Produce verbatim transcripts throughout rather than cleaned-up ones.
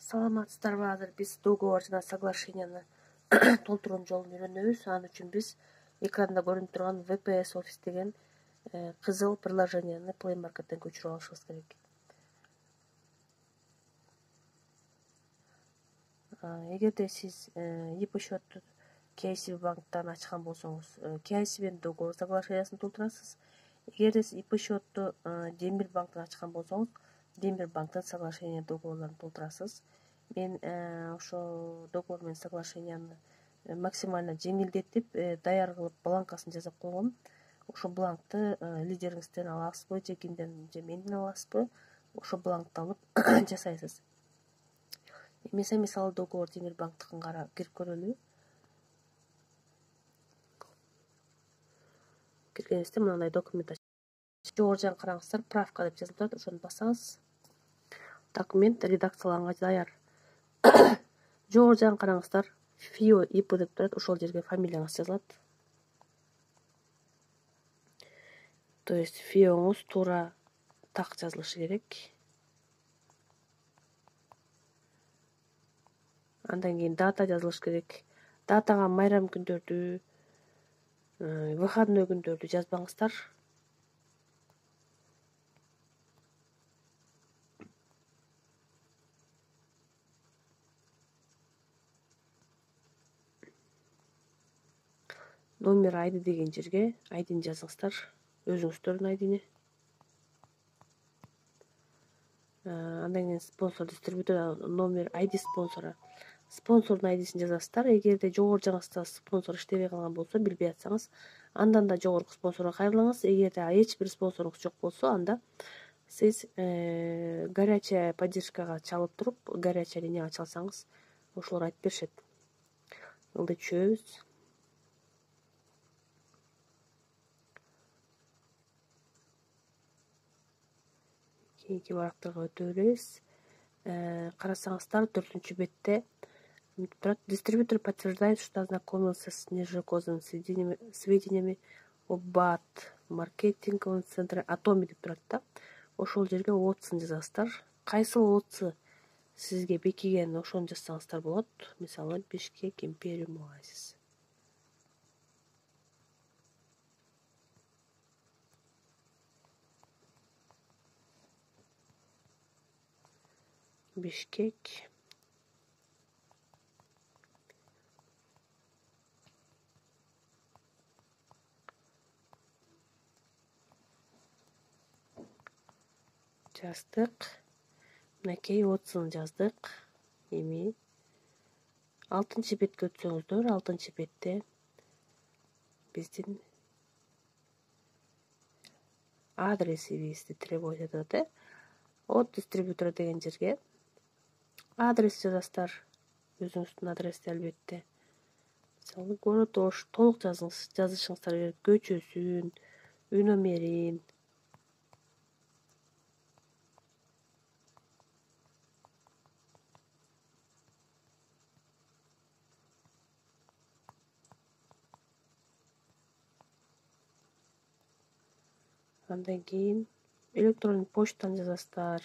Саламатсыздарбы? Азыр биз договор жана соглашенияны толтуруу жолун үйрөнөбүз. Анын үчүн биз экранда көрүнүп турган ви пи эс Office деген кызыл приложенияны Play Market'ten көчүрүп алышыбыз керек. Эгерде сиз и пи счетту кей си би банктан ачкан болсоңуз, кей си би'нин договор соглашениясын толтурасыз. Эгерде сиз и пи счетту Демир банктан ачкан болсоңуз, Демир банктын соглашение договорлорун толтурасыз. Мен ошо договор менен соглашенияны максимально жеңилдетип, даяр кылып бланкасын жасап койгом. Ошо бланкты лидериңизден аласызбы же кимден, же менден аласызбы? Ошо бланкты алып жасайсыз. Эмесе мисалы договор Демир банктыкын кара кирип көрөлү. Киргенибизде мындай документ жогору жагын караңыздар, правка деп жазылып турат, ошону басаңыз. Документ редакцияланганга даяр. Жогору жагын караңыздар, ФИО ИП деп турат, ошол жерге фамилияңыз жазылат. То есть ФИОңуз туура так жазылышы керек. Андан кийин дата жазылыш керек. Датага майрам күндөрдү, выходной күндөрдү жазбаңыздар. Номер айды деген жерге айдини жазыңыздар, өзүңүздөрдүн айдини. Андан кийин спонсор, дистрибьютор номер, айди спонсора. Спонсордун айдисин жазасыздар. Эгерде жогору жагыңызда спонсор иштебей калган болсо, билбей атсаңыз, андан да жогорку спонсорго кайрылыңыз. Эгерде эч бир спонсоруңуз жок болсо, анда сиз горячая поддержкага чалып туруп, горячая линияга чалсаңыз, ошолор айтып беришет. Ылдый түшөбүз. Кийинки барактарга өтө беребиз. Карасаңыздар, төртүнчү бетте турат: дистрибьютор подтверждает, что ознакомился с нежелательными сведениями об БАТ маркетинговом центре Атоми деп турат да. Ошол жерге отсын жазасыздар. Кайсыл отсы сизге бекиген, ошону жазсаңыздар болот. Мисалы, Бишкек Империум Оазис. Бишкек жаздык. Мынакей отсын жаздык. Эми алтынчы бетке өтсөңүздөр, алтынчы бетте биздин адресибизди требовать этет атат. От дистрибьютора деген жерге адрес жазасыздар. Өзүңүздүн адрести албетте. Мисалы, город Ош, толук жазыңыз, жазышыңыздар керек. Көчөсүн, үй номерин. Андан кийин электронный почтаны жазасыздар.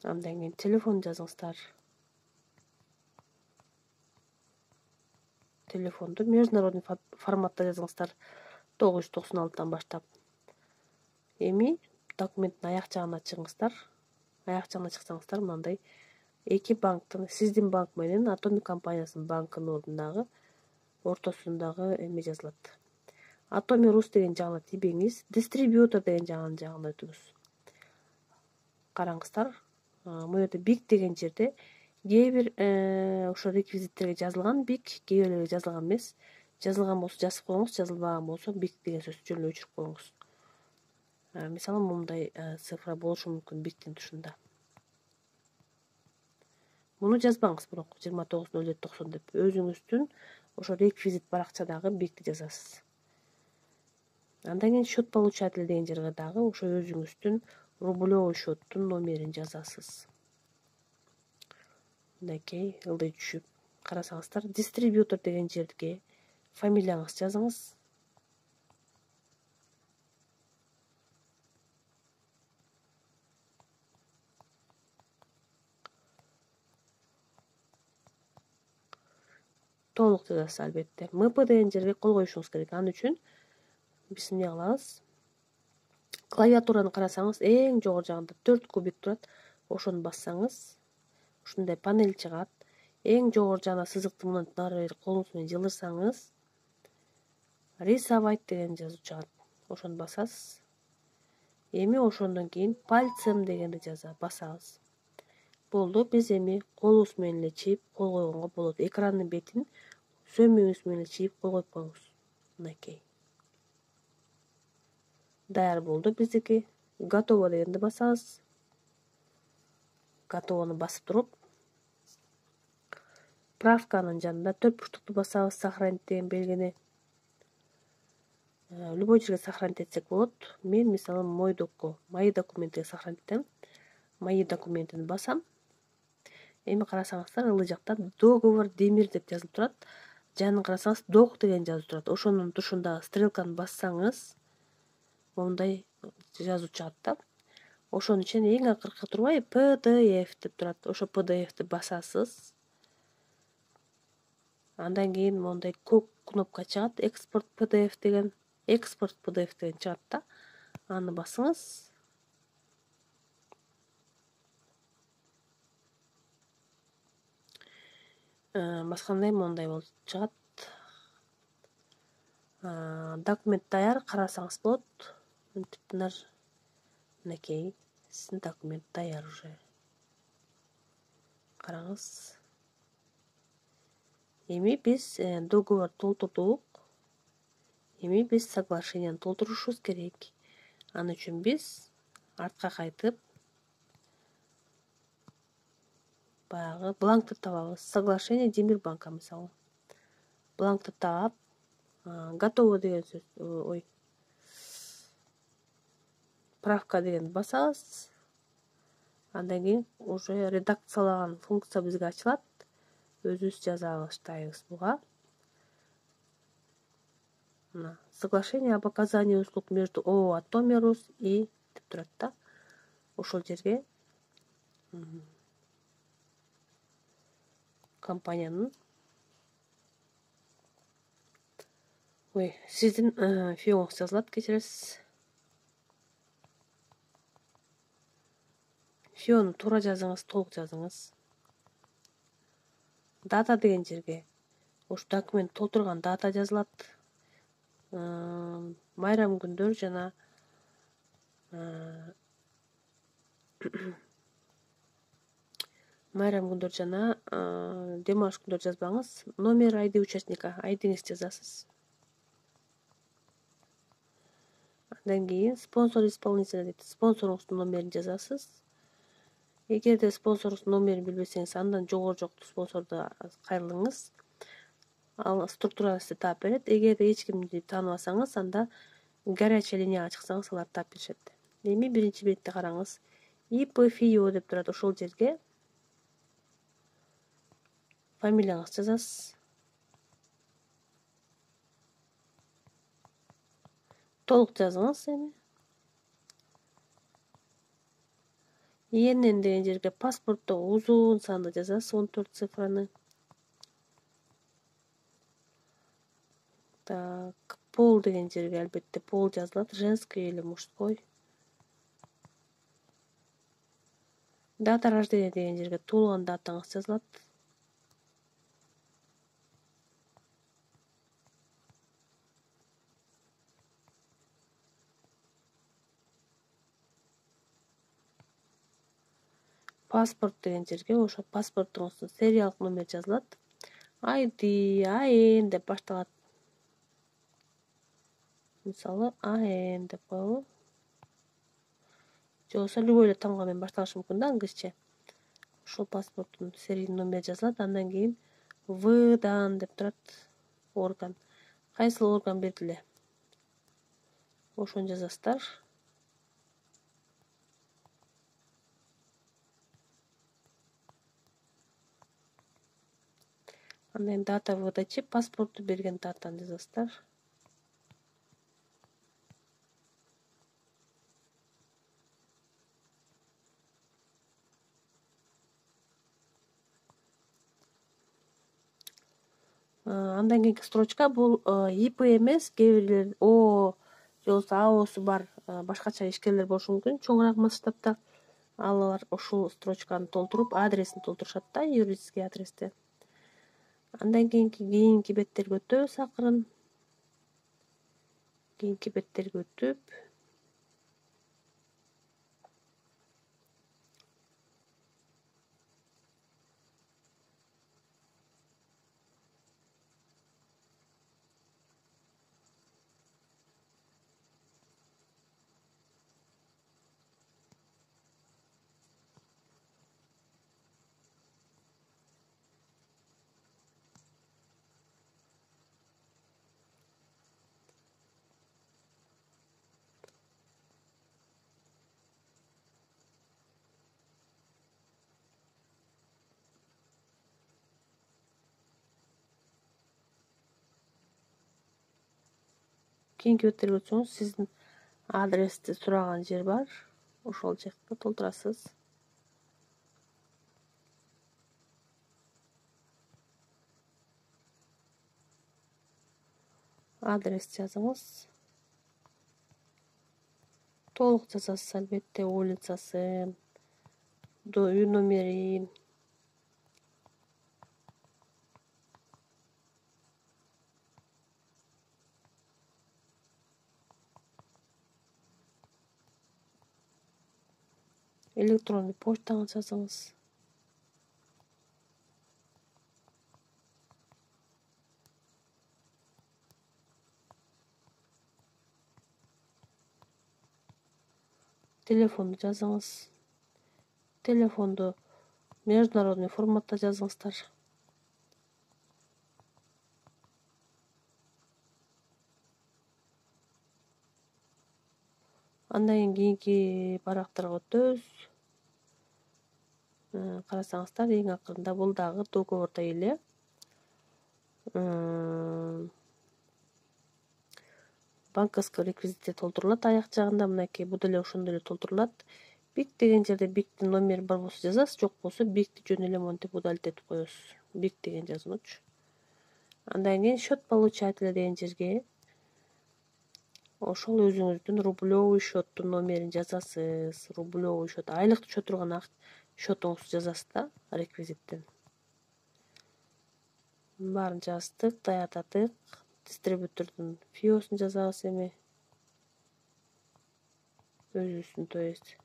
Андан кийин телефон жазыңыздар. Телефонду международный форматта жазыңыздар, тогуз жүз токсон алтыдан баштап. Эми документтин аяк жагына чыгыңыздар. Аяк жагына чыксаңыздар, мындай эки банктын, сиздин банк менен Атоми компаниясынын банкынын ордундагы, ортосундагы эме жазылат. Атоми Рус деген жагына тийбеңиз, дистрибьютор деген жагынын жагына өтүңүз. Караңыздар, бул жерде бик деген жерде кээ бир ошо реквизиттерге жазылган бик, кээ бирлерге жазылган эмес. Жазылган болсо жазып коюңуз, жазылбаган болсо бик деген сөздү жөн эле өчүрүп коюңуз. Мисалы, мындай цифра болушу мүмкүн биктин тушунда. Муну жазбаңыз бирок жыйырма тогуз ноль жети токсон деп. Өзүңүздүн ошо реквизит баракчадагы бикти жазасыз. Андан кийин счет получатель деген жерге дагы ошо өзүңүздүн рублевый счеттун номерин жазасыз. Мынакей ылдый түшүп карасаңыздар, дистрибьютор деген жерге фамилияңызды жазыңыз. Толук жазасыз албетте. эм пэ деген жерге кол коюшуңуз керек. Ал үчүн биз эмне кылабыз? Клавиатураны карасаңыз, эң жогору жагында төрт кубик турат. Ошону бассаңыз, ушундай панель чыгат. Эң жогору жагына сызыкты мындан нары бери колуңуз менен жылдырсаңыз, рисовать деген жазуу чыгат. Ошону басасыз. Эми ошондон кийин пальцем дегенди жаза басабыз. Болду. Биз эми колубуз менен эле чийип кол койгонго болот. Экрандын бетин сөмүңүз менен эле чийип кол коюп коюңуз. Мынакей. Даяр болду биздики. Готово дегенди басабыз. Готовону басып туруп, правканын жанында төрт бурчтукту басабыз, сохранить деген белгини. Любой жерге сохранить этсек болот. Мен мисалы мойдокко, мои документиге сохранить этем. Мои документини басам. Эми карасаңыздар, ылдый жакта договор Демир деп жазылып турат. Жанын карасаңыз, док деген жазуу турат. Ошонун тушундагы стрелканы бассаңыз, мондай жазуу чыгат да. Ошонун ичинен эң акыркы турбай пи ди эф деп турат. Ошо пи ди эфти басасыз. Андан кийин мондай көк кнопка чыгат, экспорт пи ди эф деген, экспорт пи ди эф деген чыгат да. Аны басыңыз. Баскандай мондай болуп чыгат. Документ даяр, карасаңыз болот. Мынтиптинер. Мынакей, сиздин документ даяр уже. Караңыз. Эми биз договор толтурдук. Эми биз соглашенияны толтурушубуз керек. Аны үчүн биз артка кайтып, баягы бланкты табабыз. Соглашение Демирбанка мисалы. Бланкты таап, готово деген сөз, ой, правка деген басабыз. Андан кийин уже редакциялаган функция бизге ачылат. Өзүбүз жаза баштайбыз буга. Мына соглашение об оказании услуг между ООО «Атомерус» и деп турат да. Ошол жерге компаниянын, ой, сиздин фиоңуз жазылат, кечиресиз. Фиону туура жазыңыз, толук жазыңыз. Дата деген жерге ушу документ толтурган дата жазылат. Майрам күндөр жана майрам күндөр жана дем алыш күндөр жазбаңыз. Номер айди участника, айдиңизди жазасыз. Андан кийин спонсор исполнителя дейт. Спонсоруңуздун номерин жазасыз. Эгерде спонсоруңуздун номерин билбесеңиз, андан жогору жокту спонсорду кайрылыңыз. Ал структурасы таап берет. Эгерде эч кимди тааныбасаңыз, анда горячая линияга чыксаңыз, алар таап беришет. Эми биринчи бетте караңыз. ИП ФИО деп турат. Ошол жерге фамилияңызды жазасыз. Толук жазыңыз эми. ИНН деген жерге паспорттогу узун санды жазасыз, он төрт цифраны. Так, пол деген жерге албетте пол жазылат, женский или мужской. Дата рождения деген жерге туулган датаңыз жазылат. Паспорт деген жерге ошо паспортуңуздун сериялык номер жазылат. Айди, АН деп башталат. Мисалы, АН деп коелу. Же болбосо любой эле тамга менен башталышы мүмкүн да, англисче. Ошол паспорттун серийный номери жазылат. Андан кийин выдан деп турат, орган. Кайсыл орган бердиле? Ошону жазасыздар. Андан дата выдачи, паспортту берген датаны жазасыздар. Андан кийинки строчка бул ИП эмес, кээ бирлер О же болбосо АОсу бар башкача ишкерлер болушу мүмкүн. Чоңураак масштабта алар ушул строчканы толтуруп, адресин толтурушат да, юридический адрести. Андан кийинки кийинки беттерге өтөбүз акырын. Кийинки беттерге өтүп, кийинки беттерге өтсөңүз, сиздин адрести сураган жер бар. Ошол жакта толтурасыз. Адрес жазыңыз. Толук жазасыз албетте, улицасын, үй номерин. Электрондук почтаңызды жазыңыз. Телефонду жазыңыз. Телефонду международный форматта жазыңыздар. Андан кийинки барактарга өтөбүз. Карасаңыздар, эң акырында бул дагы договордой эле. Банковский реквизитти толтурулат аяк жагында, мынакей бул деле ошондой эле толтурулат. Бик деген жерде биктин номери бар болсо жазасыз, жок болсо бикти жөн эле монтип удалить этип коесуз. Бик деген жазгычы. Андан кийин счет получателя деген жерге ошол өзүңүздүн рублевый счеттун номерин жазасыз. Рублевый счет, айлык түшө турган счетуңузду жазасыз да, реквизиттен. Баарын жаздык, даярдадык. Дистрибьютордун фиосун жазабыз эми. Өзүбүздүн, то есть.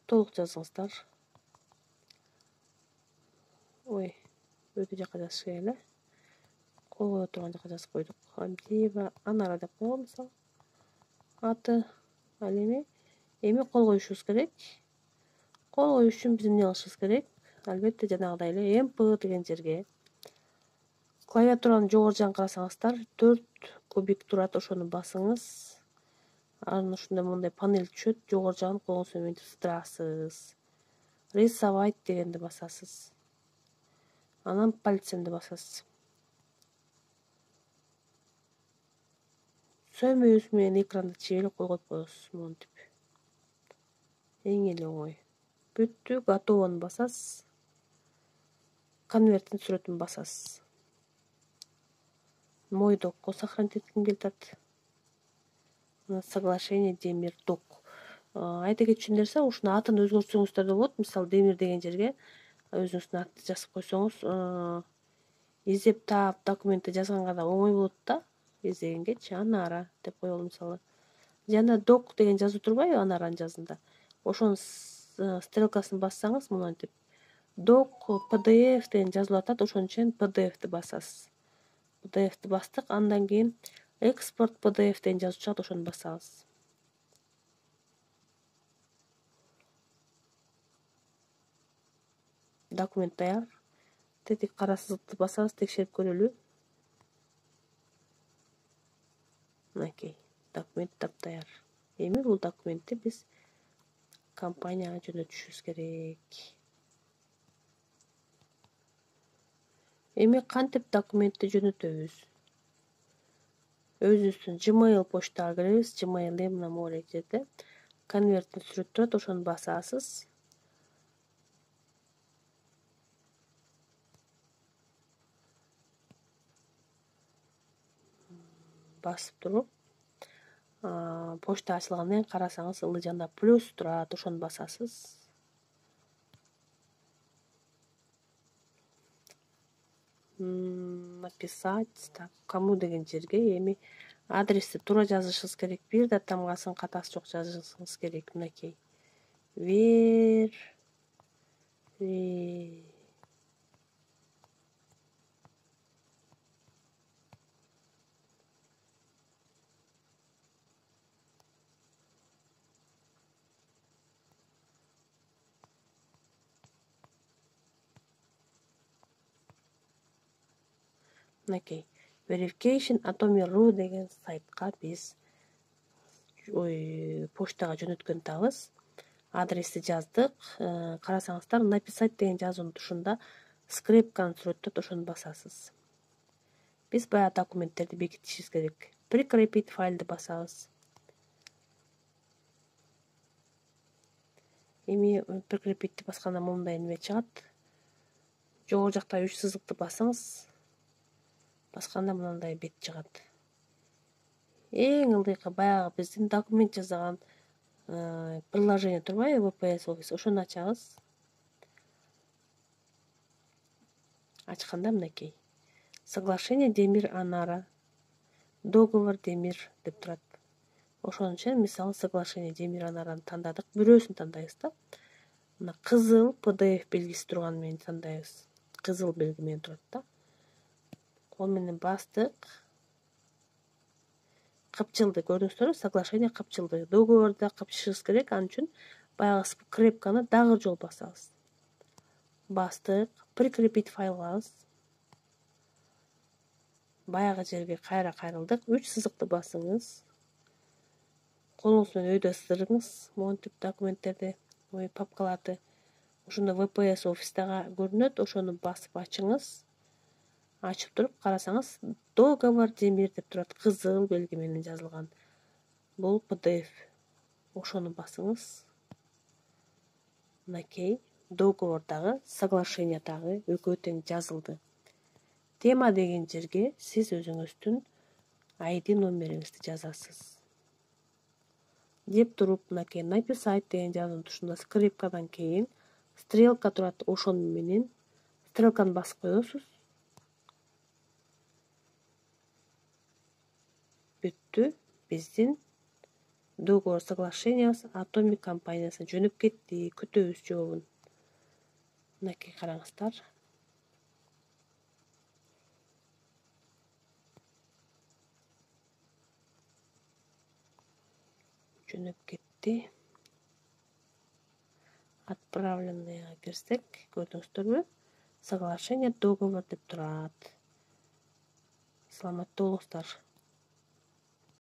Толук жазыңыздар. Ой, өтө жака жазыш керек эле. Кол кое турган жака жазып койдук. Абдиева Анара деп койгон мисалы. Аты, ал эми эми кол коюшубуз керек. Кол коюш үчүн биз эмне кылышыбыз керек? Албетте жанагыдай эле эм пэ деген жерге клавиатуранын жогору жагын карасаңыздар, төрт кубик турат, ошону басыңыз. Анан ушундай мындай панель түшөт, жогору жагын колуңуз менен ыстырасыз. Рисовать дегенди басасыз. Анан пальцемди басасыз. Сөмөбүз менен экранды чегелеп койгоп коесуз, монтип. Эң эле оңой. Бүттү, готовону басасыз. Конверттин сүрөтүн басасыз. Мой докко сохранить этким келатат. Соглашение Демир док. Айта кетчү нерсе, ушунун атын өзгөртсөңүздөр да болот. Мисалы, Демир деген жерге өзүңүздүн атты жазып койсоңуз, издеп таап документти жазганга да оңой болот да. Издегенгечи Анара деп коелу мисалы. Жана док деген жазуу турбайбы Анаранын жазында? Ошонун стрелкасын бассаңыз, монтип док пи ди эф деген жазылып атат, ошон үчүн пи ди эфти басасыз. пи ди эфти бастык, андан кийин экспорт пи ди эф деген жазуу чыгат, ошону басабыз. Документ даяр. Тетик кара сызыкты басабыз, текшерип көрөлү. Мынакей, документ таптаяр. Эми бул документти биз компанияга жөнөтүшүбүз керек. Эми кантип документти жөнөтөбүз? Өзүбүздүн Gmail почтага киребиз. Gmail мына могулей жерде конверттин сүрөтү турат, ошону басасыз. Басып туруп, почта ачылгандан кийин карасаңыз ылдый жанда плюс турат, ошону басасыз. Написать, так, кому деген жерге эми адрести туура жазышыңыз керек. Бир да тамгасын катасы жок жазышыңыз керек. Мынакей. Вер Мынакей. Verification Atomy.ru деген сайтка биз ой почтага жөнөткөн атабыз. Адрести жаздык. Карасаңыздар, написать деген жазуунун тушунда скрепканы сүрөттөт, ошону басасыз. Биз баягы документтерди бекитишибиз керек. Прикрепить файлды басабыз. Эми прикрепитти басканда мындай неме чыгат. Жогору жакта үч сызыкты басыңыз. Басканда мындай бет чыгат. Эң ылдыйкы баягы биздин документ жасаган приложение турбайбы, ви пи эс Office, ошону ачабыз. Ачканда мынакей. Соглашение Демир Анара. Договор Демир деп турат. Ошон үчүн мисалы соглашение Демир Анараны тандадык, бирөөсүн тандайбыз да. Мына кызыл пи ди эф белгиси турганы менен тандайбыз. Кызыл белги менен турат да. Кол менен бастык. Кыпчылды көрдүңүздөрбү? Соглашение кыпчылды. Договорду кыпчышыбыз керек, ал үчүн баягы скрепканы дагы жол басабыз. Бастык, прикрепить файлыбыз. Баягы жерге кайра кайрылдык, үч сызыкты басыңыз. Колуңуз менен өйдө сыдырыңыз, монтип документтерди, ой папкаларды. Ошондо ви пи эс Office'тага көрүнөт, ошону басып ачыңыз. Ачып туруп карасаңыз, договор Демир деп турат, кызыл белги менен жазылган. Бул пи ди эф. Ошону басыңыз. Мынакей, договордагы, соглашениядагы экөө тең жазылды. Тема деген жерге сиз өзүңүздүн ай ди номериңизди жазасыз. Деп туруп, мынакей написать деген жазуунун тушунда скрипкадан кийин стрелка турат, ошону менен стрелканы басып коесуз. Бүттү. Биздин договор соглашениябыз Atomy компаниясына жөнөп кетти. Күтөбүз жообун. Мынакей караңыздар. Жөнөп кетти. Отправленныйга кирсек, көрдүңүздөрбү? Соглашение, договор деп турат. Саламатта болуңуздар.